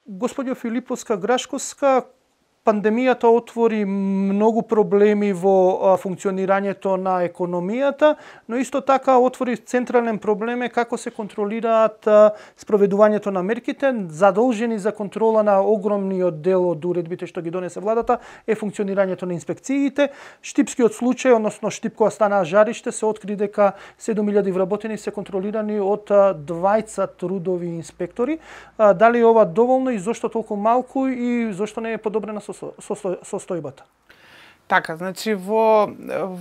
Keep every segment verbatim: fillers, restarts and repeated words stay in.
Господјо Филиповска Грашковска, пандемијата отвори многу проблеми во функционирањето на економијата, но исто така отвори централен проблем е како се контролираат спроведувањето на мерките. Задолжени за контрола на огромниот дел од уредбите што ги донесе владата е функционирањето на инспекциите. Штипскиот случај, односно Штип кога станаа жариште, се откри дека седум илјади вработени се контролирани од двајца трудови инспектори. Дали ова доволно и зошто толку малку и зошто не е подобрена состојбата? Така, значи во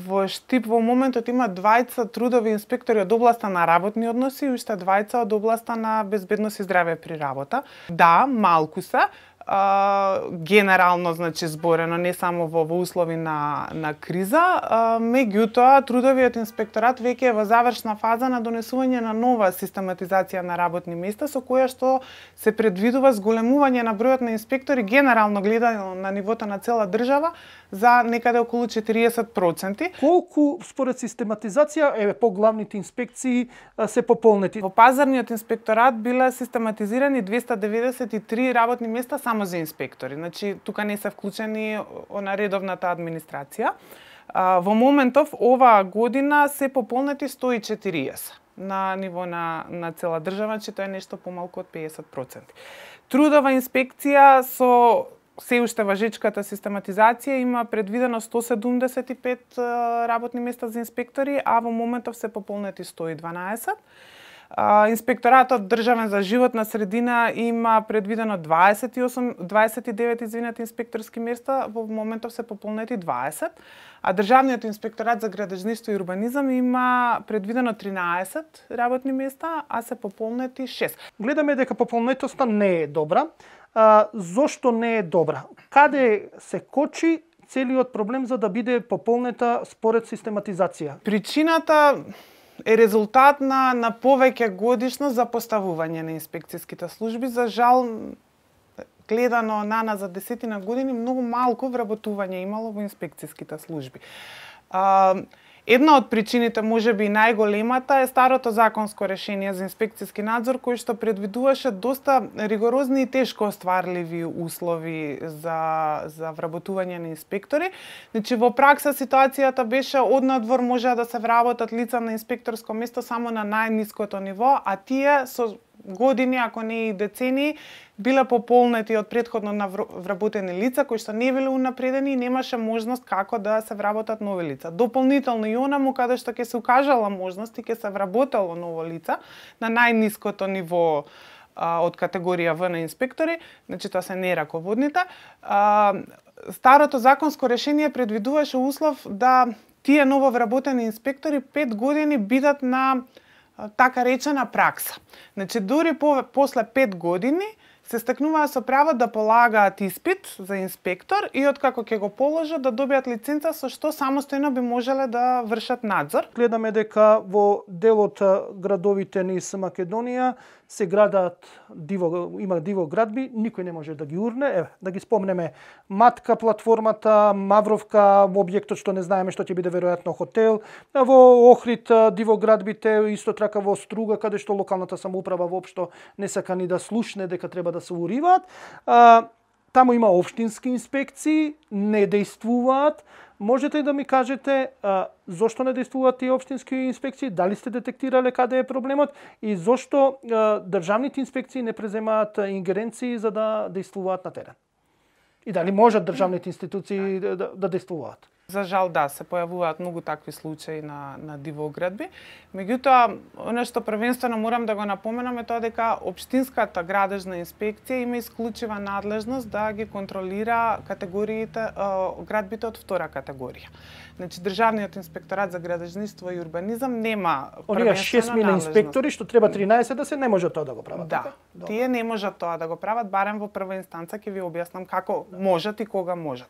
во Штип во моментот има двајца трудови инспектори од областа на работни односи и уште двајца од областа на безбедност и здраве при работа. Да, малку се. Uh, генерално, значи, зборено, не само во, во услови на, на криза, uh, меѓутоа, трудовиот инспекторат веќе е во завршна фаза на донесување на нова систематизација на работни места, со која што се предвидува зголемување на бројот на инспектори, генерално гледано на нивото на цела држава, за некаде околу четириесет проценти. Колку, според систематизација, е поглавните инспекции се пополнети? Во пазарниот инспекторат биле систематизирани двеста деветдесет и три работни места само за инспектори. Значи, тука не се вклучени на редовната администрација. Во моментов, оваа година се пополнети сто и четириесет на ниво на, на цела држава, че тоа е нешто помалку од педесет проценти. Трудова инспекција со се уште важечката систематизација има предвидено сто седумдесет и пет работни места за инспектори, а во моментов се пополнети сто и дванаесет. Инспекторатот државен за животна средина има предвидено дваесет и осум, дваесет и девет извинете инспекторски места, во моментов се пополнети дваесет, а државниот инспекторат за градежништво и урбанизам има предвидено тринаесет работни места, а се пополнети шест. Гледаме дека пополнетоста не е добра. А, зошто не е добра? Каде се кочи целиот проблем за да биде пополнета според систематизација? Причината е резултат на, на повеќе годишно запоставување на инспекцијските служби. За жал, гледано на нас за десетина години, многу малку вработување имало во инспекцијските служби. А, Една од причините, можеби и најголемата, е старото законско решение за инспекцијски надзор, кој што предвидуваше доста ригорозни и тешко остварливи услови за, за вработување на инспектори. Значи, во пракса ситуацијата беше однадвор може да се вработат лица на инспекторско место само на најниското ниво, а тие со години, ако не и децении, биле пополнети од претходно вработени лица кои што не биле унапредени и немаше можност како да се вработат нови лица. Дополнително и онаму каде што ќе се укажала можност и ќе се вработало ново лица на најниското ниво а, од категорија В на инспектори, значи тоа се не раководните. А, старото законско решение предвидуваше услов да тие нововработени инспектори пет години бидат на така речена пракса. Значи, дури по, после пет години се стекнуваа со право да полагаат испит за инспектор и откако ќе го положат да добијат лиценца со што самостојно би можеле да вршат надзор. Гледаме дека во дел од градовите низ Македонија се градат диво, има диво градби, никој не може да ги урне. Еве, да ги спомнеме Матка платформата, Мавровка, објектот што не знаеме што ќе биде веројатно хотел, во Охрид диво градбите, исто така во Струга каде што локалната самоуправа воопшто не сака ни да слушне дека треба да се уриваат. Таму има општински инспекции, не дејствуваат. Можете да ми кажете а, зошто не дејствуваат тие општински инспекции? Дали сте детектирале каде е проблемот и зошто а, државните инспекции не преземаат ингеренции за да дејствуваат на терен? И дали можат државните институции да, да, да дејствуваат? За жал, да, се појавуваат многу такви случаи на, на дивоградби. Меѓутоа, оно што првенствено морам да го напоменам е тоа дека општинската градежна инспекција има исклучива надлежност да ги контролира категориите, градбите од втора категорија. Значи, Државниот инспекторат за градежништво и урбанизам нема оние шест миле инспектори што треба тринаесет да се не може тоа да го прават. Да, така? Тие не можат тоа да го прават, барем во прва инстанца ќе ви објаснам како можат и кога можат.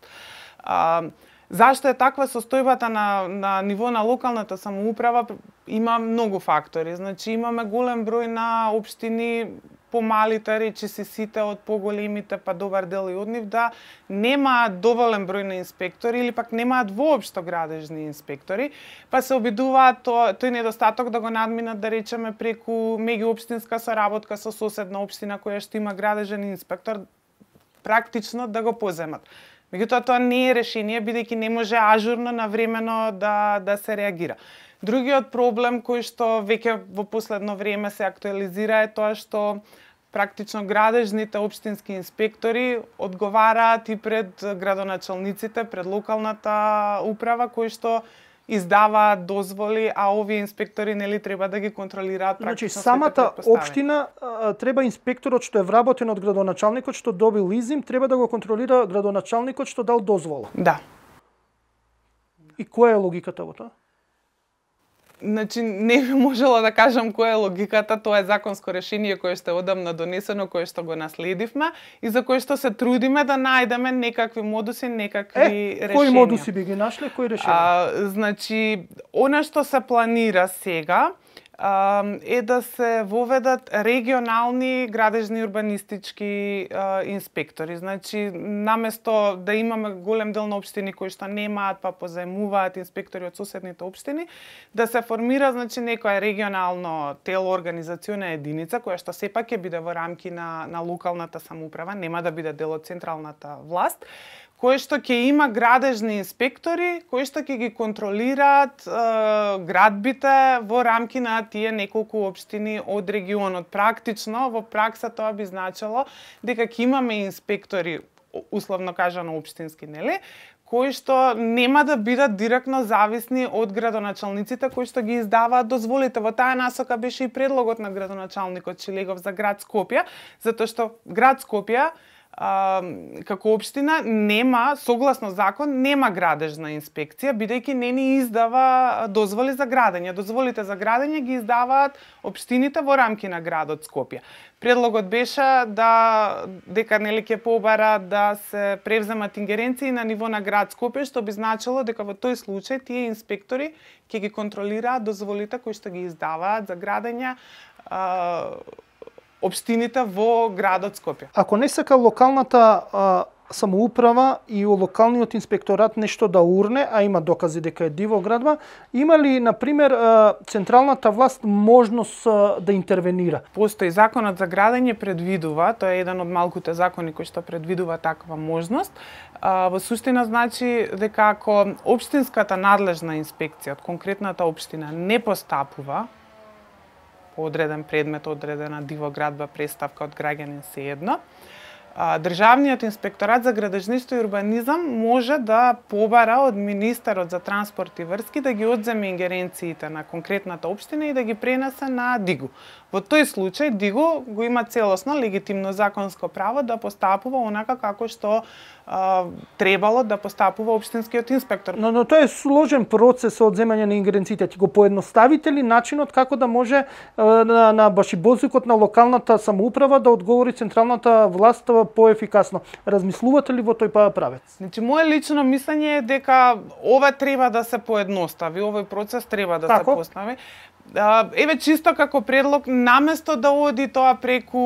А, Зашто е таква состојбата на, на ниво на локалната самоуправа? Има многу фактори. Значи, имаме голем број на општини помалите, речиси сите од поголемите, па добар дел и од нив, да немаат доволен број на инспектори или пак немаат воопшто градежни инспектори, па се обидуваат то, тој недостаток да го надминат, да речеме, преку меѓуопштинска соработка со соседна општина која што има градежен инспектор, практично да го поземат. Меѓутоа, тоа не е решение, бидејќи не може ажурно, навремено да, да се реагира. Другиот проблем кој што веќе во последно време се актуализира е тоа што практично градежните општински инспектори одговараат и пред градоначалниците, пред локалната управа, кои што издаваат дозволи, а овие инспектори нели треба да ги контролираат практично. Значи, самата општина а, треба инспекторот што е вработен од градоначалникот што добил изим, треба да го контролира градоначалникот што дал дозвола. Да. И која е логиката во тоа? Значи, не би можела да кажам која е логиката, тоа е законско решение кое што е одамна донесено, кое што го наследивме и за кое што се трудиме да најдеме некакви модуси, некакви е, решенија. Кои модуси би ги нашле, кои решенија? А, значи, она што се планира сега а, е да се воведат регионални градежни урбанистички а, инспектори. Значи, наместо да имаме голем дел на општини кои што немаат, па позаемуваат инспектори од соседните општини, да се формира, значи, некоја регионално тело, организациона единица, која што сепак ќе биде во рамки на, на локалната самоуправа, нема да биде дел од централната власт, кој што ќе има градежни инспектори, кои што ќе ги контролираат е, градбите во рамки на тие неколку општини од регионот. Практично, во пракса тоа би значило дека ќе имаме инспектори, условно кажано општински, нели, кои што нема да бидат директно зависни од градоначалниците кои што ги издаваат дозволите. Во таа насока беше и предлогот на градоначалникот Шилегов за град Скопје, затоа што град Скопје А, како општина нема, согласно закон, нема градежна инспекција, бидејќи не ни издава дозволи за градење. Дозволите за градење ги издаваат општините во рамки на градот Скопје. Предлогот беше да дека нели ќе побара да се превземат ингеренции на ниво на град Скопје, што би значило дека во тој случај тие инспектори ќе ги контролираат дозволите кои што ги издаваат за градење а, општините во градот Скопје. Ако не сака локалната а, самоуправа и локалниот инспекторат нешто да урне, а има докази дека е диво градба, има ли, например, а, централната власт можност а, да интервенира? Постои законот за градење предвидува, тоа е еден од малкуте закони кои што предвидува таква можност. А, во суштина значи дека ако општинската надлежна инспекција од конкретната општина не постапува по одреден предмет, одредена диво градба, преставка од граѓанин се едно, Државниот инспекторат за градежништво и урбанизам може да побара од министерот за транспорт и врски да ги одземе ингеренциите на конкретната општина и да ги пренесе на ДИГУ. Во тој случај ДИГУ го има целосно легитимно законско право да постапува онака како што а, требало да постапува општинскиот инспектор. Но, но тоа е сложен процес од земање на ингеренциите. Ти го поедноставите ли начинот како да може а, на, на башибозикот на локалната самоуправа да одговори централната власт поефикасно? Размислувате ли во тој правец? Значи, мое лично мислење е дека ова треба да се поедностави, овој процес треба да Тако? се постави. Еве чисто како предлог, наместо да оди тоа преку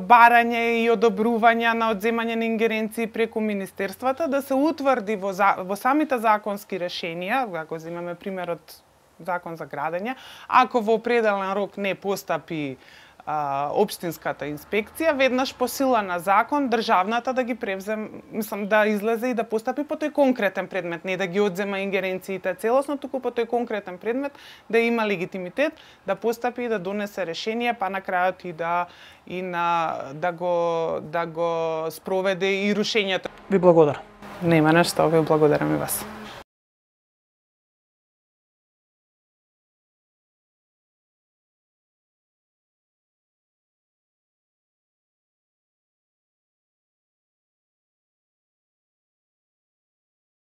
барање и одобрување на одземање на ингеренции преку министерствата, да се утврди во, за, во самите законски решенија, ако земеме примерот закон за градење, ако во определен рок не постапи а, општинската инспекција, веднаш по сила на закон државната да ги превзем, мислам да излезе и да постапи по тој конкретен предмет, не да ги одзема ингеренциите целосно, туку по тој конкретен предмет да има легитимитет да постапи и да донесе решение, па на крајот и да и на да го да го спроведе и рушењето. Ви благодарам. Нема нешто, ви благодарам и вас.